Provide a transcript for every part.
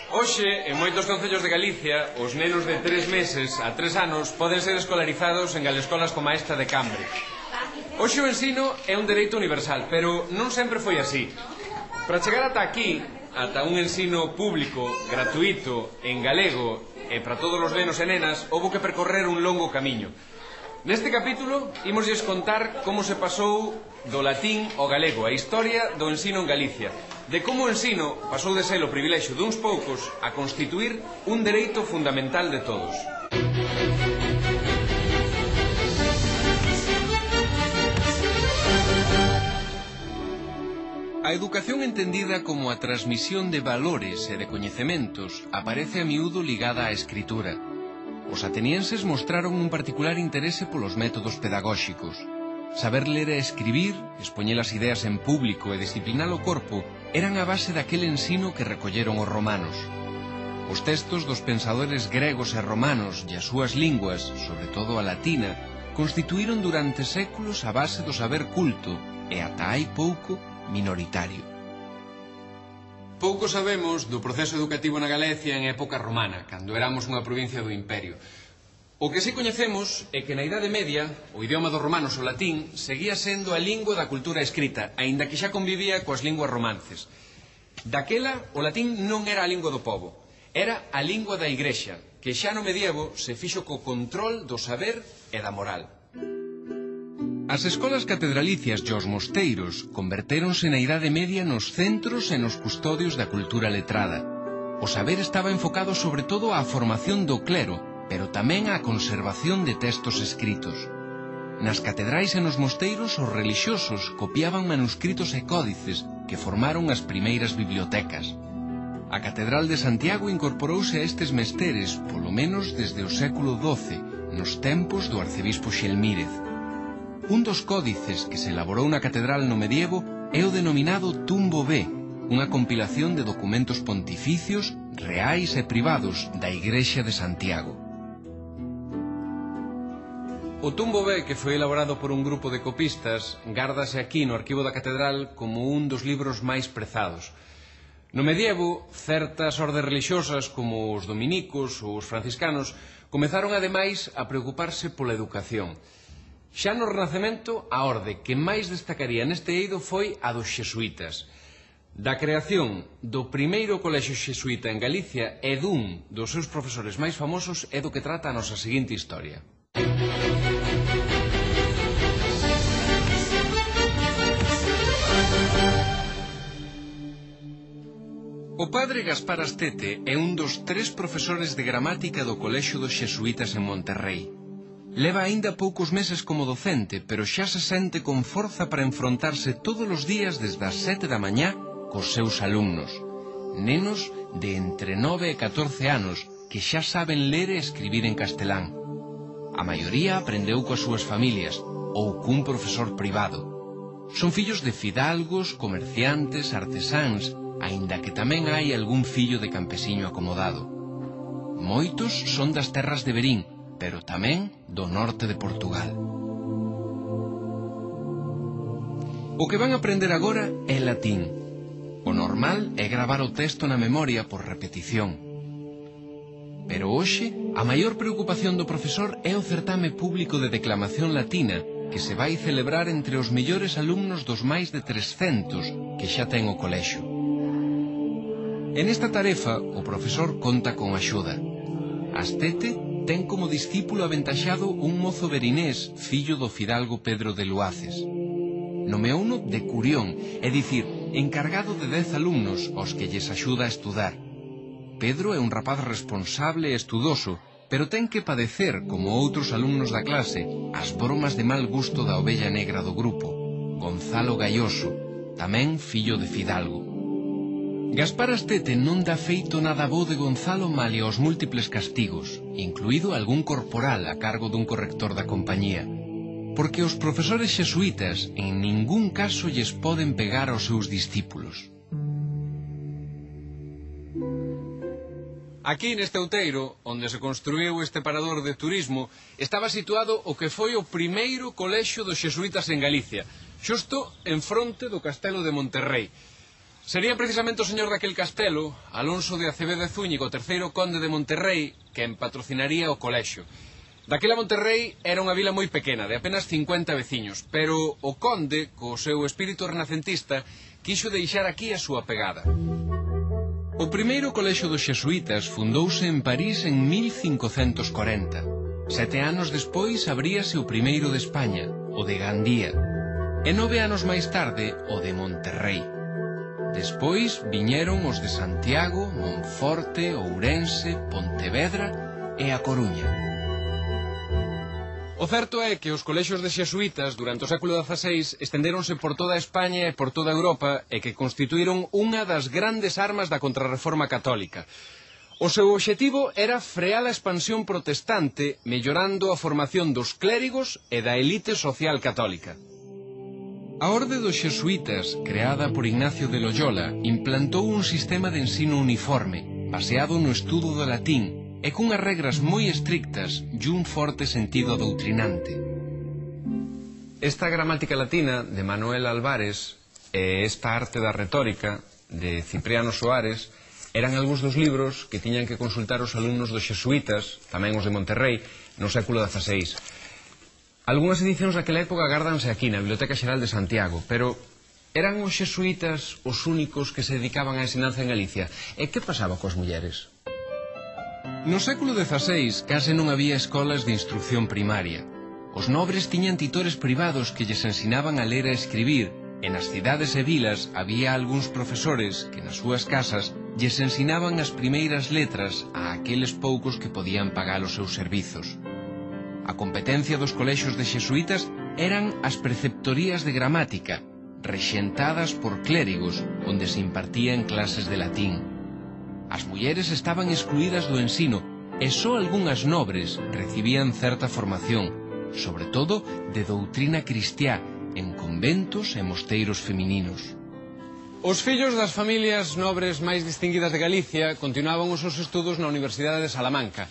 Hoxe, en moitos concellos de Galicia, os nenos de 3 meses a 3 anos poden ser escolarizados en galescolas como esta de Cambre. Hoxe o ensino é un dereito universal, pero non sempre foi así. Para chegar ata aquí, ata un ensino público, gratuito, en galego e para todos os nenos e nenas, houbo que percorrer un longo camiño. Neste capítulo, imosles contar como se pasou do latín ao galego, a historia do ensino en Galicia, de como o ensino pasou de ser o privilexio duns poucos a constituir un dereito fundamental de todos. A educación entendida como a transmisión de valores e de coñecementos aparece a miúdo ligada á escritura. Os atenienses mostraron un particular interese polos métodos pedagóxicos. Saber ler e escribir, expoñer as ideas en público e disciplinar o corpo eran a base daquele ensino que recolleron os romanos. Os textos dos pensadores gregos e romanos e as súas linguas, sobre todo a latina, constituíron durante séculos a base do saber culto e ata hai pouco minoritario. Pouco sabemos do proceso educativo na Galicia en época romana, cando éramos unha provincia do Imperio. O que si coñecemos é que na Idade Media o idioma dos romanos, o latín, seguía sendo a lingua da cultura escrita, aínda que xa convivía coas linguas romances. Daquela, o latín non era a lingua do pobo, era a lingua da Igrexa, que xa no medievo se fixo co control do saber e da moral. As escolas catedralicias e os mosteiros convertéronse na Idade Media nos centros e nos custodios da cultura letrada. O saber estaba enfocado sobre todo á formación do clero, pero tamén á conservación de textos escritos. Nas catedrais e nos mosteiros os relixiosos copiaban manuscritos e códices que formaron as primeiras bibliotecas. A Catedral de Santiago incorporouse a estes mesteres, polo menos desde o século XII, nos tempos do arcebispo Xelmírez. Un dos códices que se elaborou na catedral no medievo é o denominado Tumbo B, unha compilación de documentos pontificios, reais e privados da Igrexa de Santiago. O Tumbo B, que foi elaborado por un grupo de copistas, gárdase aquí no arquivo da catedral como un dos libros máis prezados. No medievo, certas ordes religiosas como os dominicos ou os franciscanos comezaron ademais a preocuparse pola educación. Xa no Renacemento, a orde que máis destacaría neste eido foi a dos xesuítas. Da creación do primeiro colexio xesuíta en Galicia e dun dos seus profesores máis famosos é do que trata a nosa seguinte historia. O padre Gaspar Astete é un dos 3 profesores de gramática do colexio dos xesuítas en Monterrei. Leva aínda poucos meses como docente, pero xa se sente con forza para enfrontarse todos os días desde as 7 da mañá cos seus alumnos. Nenos de entre 9 e 14 anos que xa saben ler e escribir en castelán. A maioría aprendeu coas súas familias ou cun profesor privado. Son fillos de fidalgos, comerciantes, artesáns, aínda que tamén hai algún fillo de campesiño acomodado. Moitos son das terras de Verín, pero tamén do norte de Portugal. O que van aprender agora é latín. O normal é gravar o texto na memoria por repetición. Pero hoxe, a maior preocupación do profesor é o certame público de declamación latina que se vai celebrar entre os mellores alumnos dos máis de 300 que xa ten o colexio. En esta tarefa, o profesor conta con axuda. Astete ten como discípulo aventaxado un mozo verinés, fillo do fidalgo Pedro de Luaces. Nomeouno de Curión, é dicir, encargado de 10 alumnos aos que lles axuda a estudar. Pedro é un rapaz responsable e estudoso, pero ten que padecer, como outros alumnos da clase, as bromas de mal gusto da ovella negra do grupo, Gonzalo Gaioso, tamén fillo de fidalgo. Gaspar Astete non dá feito nada bo de Gonzalo malia aos múltiples castigos, incluído algún corporal a cargo dun corrector da compañía, porque os profesores xesuítas en ningún caso lles poden pegar aos seus discípulos. Aquí neste outeiro, onde se construíu este parador de turismo, estaba situado o que foi o primeiro colexio dos xesuítas en Galicia, xusto en fronte do castelo de Monterrei. Sería precisamente o señor daquel castelo, Alonso de Acevedo e Zúñiga, o terceiro conde de Monterrei, quen patrocinaría o colexio. Daquela Monterrei era unha vila moi pequena, de apenas 50 veciños, pero o conde, co seu espírito renacentista, quixo deixar aquí a súa pegada. O primeiro colexio dos xesuítas fundouse en París en 1540. 7 anos despois abríase o primeiro de España, o de Gandía, e 9 anos máis tarde o de Monterrei. Despois viñeron os de Santiago, Monforte, Ourense, Pontevedra e A Coruña. O certo é que os colexios de xesuítas durante o século XVI estendéronse por toda España e por toda Europa e que constituíron unha das grandes armas da contrarreforma católica. O seu obxectivo era frear a expansión protestante mellorando a formación dos clérigos e da elite social católica. A Orde dos Xesuítas, creada por Ignacio de Loyola, implantou un sistema de ensino uniforme, baseado no estudo do latín, e cunhas regras moi estrictas e un forte sentido doutrinante. Esta gramática latina de Manuel Álvarez e esta arte da retórica de Cipriano Soares eran algúns dos libros que tiñan que consultar os alumnos dos xesuítas, tamén os de Monterrei, no século XVI. Algúnas edicións daquela época gárdanse aquí, na Biblioteca Xeral de Santiago, pero eran os xesuítas os únicos que se dedicaban á ensinanza en Galicia. E que pasaba coas mulleres? No século XVI case non había escolas de instrucción primaria. Os nobres tiñan titores privados que lles ensinaban a ler e escribir, e nas cidades e vilas había algúns profesores que nas súas casas lles ensinaban as primeiras letras a aqueles poucos que podían pagar os seus servizos. A competencia dos colexios de xesuítas eran as preceptorías de gramática, rexentadas por clérigos, onde se impartían clases de latín. As mulleres estaban excluídas do ensino e só algunhas nobres recibían certa formación, sobre todo de doutrina cristiá, en conventos e mosteiros femininos. Os fillos das familias nobres máis distinguidas de Galicia continuaban os seus estudos na Universidade de Salamanca,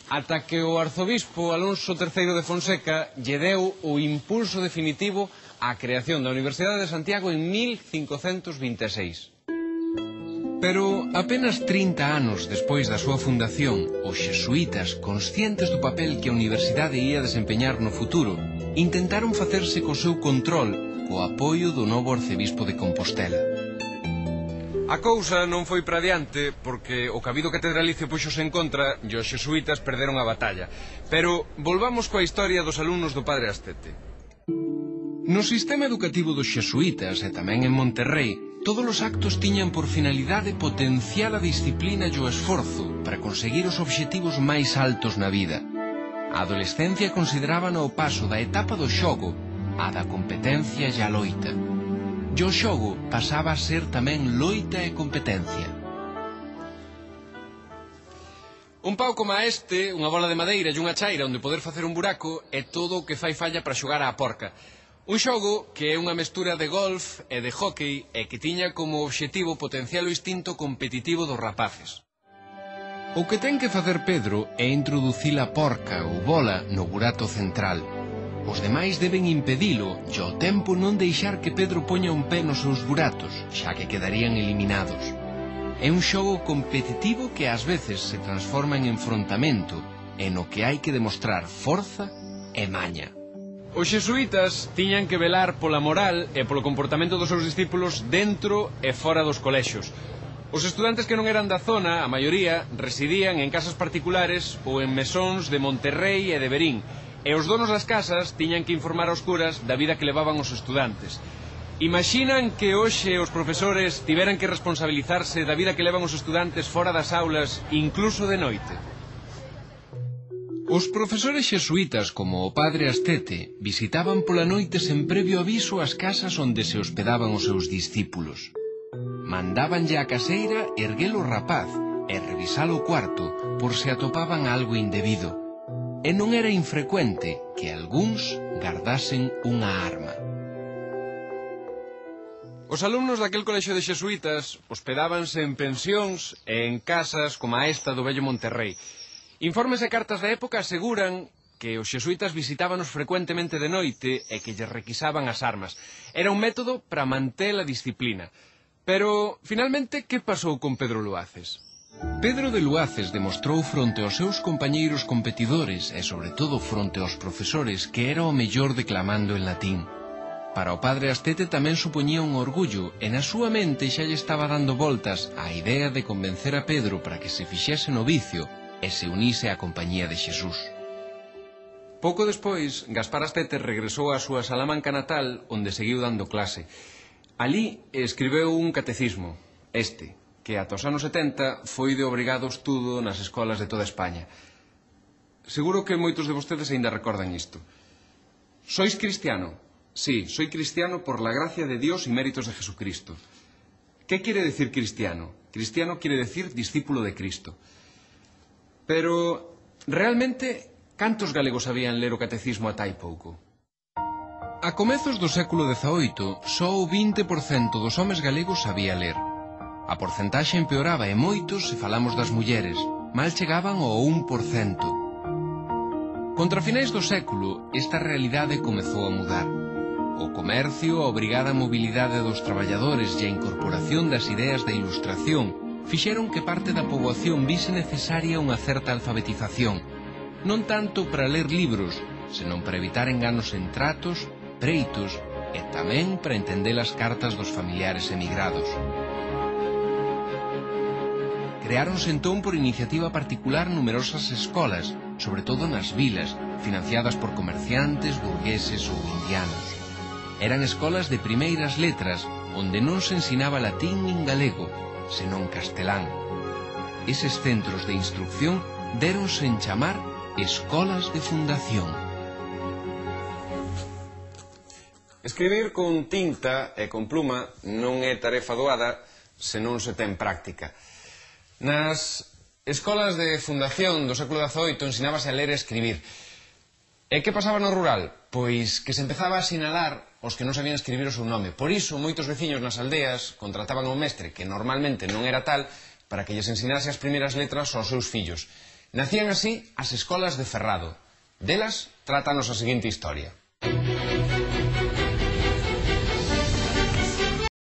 ata que o arzobispo Alonso III de Fonseca lle deu o impulso definitivo á creación da Universidade de Santiago en 1526. Pero apenas 30 anos despois da súa fundación, os xesuítas, conscientes do papel que a universidade ia desempeñar no futuro, intentaron facerse co seu control co apoio do novo arcebispo de Compostela. A cousa non foi para adiante porque o cabido catedralicio puxose en contra e os xesuítas perderon a batalla. Pero volvamos coa historia dos alumnos do padre Astete. No sistema educativo dos xesuítas e tamén en Monterrei, todos os actos tiñan por finalidade potenciar a disciplina e o esforzo para conseguir os obxectivos máis altos na vida. A adolescencia considerábana o paso da etapa do xogo á da competencia e a loita. E o xogo pasaba a ser tamén loita e competencia. Un pau como este, unha bola de madeira e unha chaira onde poder facer un buraco é todo o que fai falla para xogar á porca. Un xogo que é unha mestura de golf e de hóquei e que tiña como obxectivo potenciar o instinto competitivo dos rapaces. O que ten que facer Pedro é introducir a porca ou bola no burato central. Os demais deben impedilo e ao tempo non deixar que Pedro poña un pé nos seus buratos, xa que quedarían eliminados. É un xogo competitivo que ás veces se transforma en enfrontamento e no que hai que demostrar forza e maña. Os xesuítas tiñan que velar pola moral e polo comportamento dos seus discípulos dentro e fora dos colexios. Os estudantes que non eran da zona, a maioría, residían en casas particulares ou en mesóns de Monterrei e de Verín, e os donos das casas tiñan que informar aos curas da vida que levaban os estudantes. Imaxinan que hoxe os profesores tiveran que responsabilizarse da vida que levan os estudantes fora das aulas, incluso de noite. Os profesores xesuítas, como o padre Astete, visitaban pola noite sen previo aviso as casas onde se hospedaban os seus discípulos. Mandábanlle á caseira erguer o rapaz e revisar o cuarto por se atopaban algo indebido. E non era infrecuente que algúns gardasen unha arma. Os alumnos daquel colexio de xesuítas hospedábanse en pensións e en casas como a esta do vello Monterrei. Informes e cartas da época aseguran que os xesuítas visitábanos frecuentemente de noite e que lles requisaban as armas. Era un método para manter a disciplina. Pero, finalmente, que pasou con Pedro Luaces? Pedro de Luaces demostrou fronte aos seus compañeiros competidores e, sobre todo, fronte aos profesores que era o mellor declamando en latín. Para o padre Astete tamén supoñía un orgullo e na súa mente xa lle estaba dando voltas a idea de convencer a Pedro para que se fixese no vicio e se unise á compañía de Xesús. Pouco despois, Gaspar Astete regresou á súa Salamanca natal onde seguiu dando clase. Alí escribeu un catecismo, que ata os anos 70 foi de obrigado estudo nas escolas de toda España. Seguro que moitos de vostedes aínda recordan isto. Sois cristiano? Sí, soy cristiano por la gracia de Dios y méritos de Jesucristo. ¿Qué quiere decir cristiano? Cristiano quiere decir discípulo de Cristo. Pero, realmente, cantos galegos sabían ler o catecismo ata hai pouco? A comezos do século XVIII, só o 20% dos homes galegos sabía ler. A porcentaxe empeoraba e moitos se falamos das mulleres, mal chegaban ao 1%. Contra finais do século, esta realidade comezou a mudar. O comercio, a obrigada mobilidade dos traballadores e a incorporación das ideas da ilustración fixeron que parte da poboación vise necesaria unha certa alfabetización, non tanto para ler libros, senón para evitar enganos en tratos, preitos e tamén para entender as cartas dos familiares emigrados. Creáronse entón por iniciativa particular numerosas escolas, sobre todo nas vilas, financiadas por comerciantes, burgueses ou indianos. Eran escolas de primeiras letras, onde non se ensinaba latín nin galego, senón castelán. Eses centros de instrucción déronse en chamar escolas de fundación. Escribir con tinta e con pluma non é tarefa doada se non se ten práctica. Nas escolas de fundación do século XVIII ensinábase a ler e escribir. E que pasaba no rural? Pois que se empezaba a sinalar os que non sabían escribir o seu nome. Por iso, moitos veciños nas aldeas contrataban a un mestre, que normalmente non era tal, para que lles ensinase as primeiras letras aos seus fillos. Nacían así as escolas de Ferrado. Delas, trátanos a seguinte historia.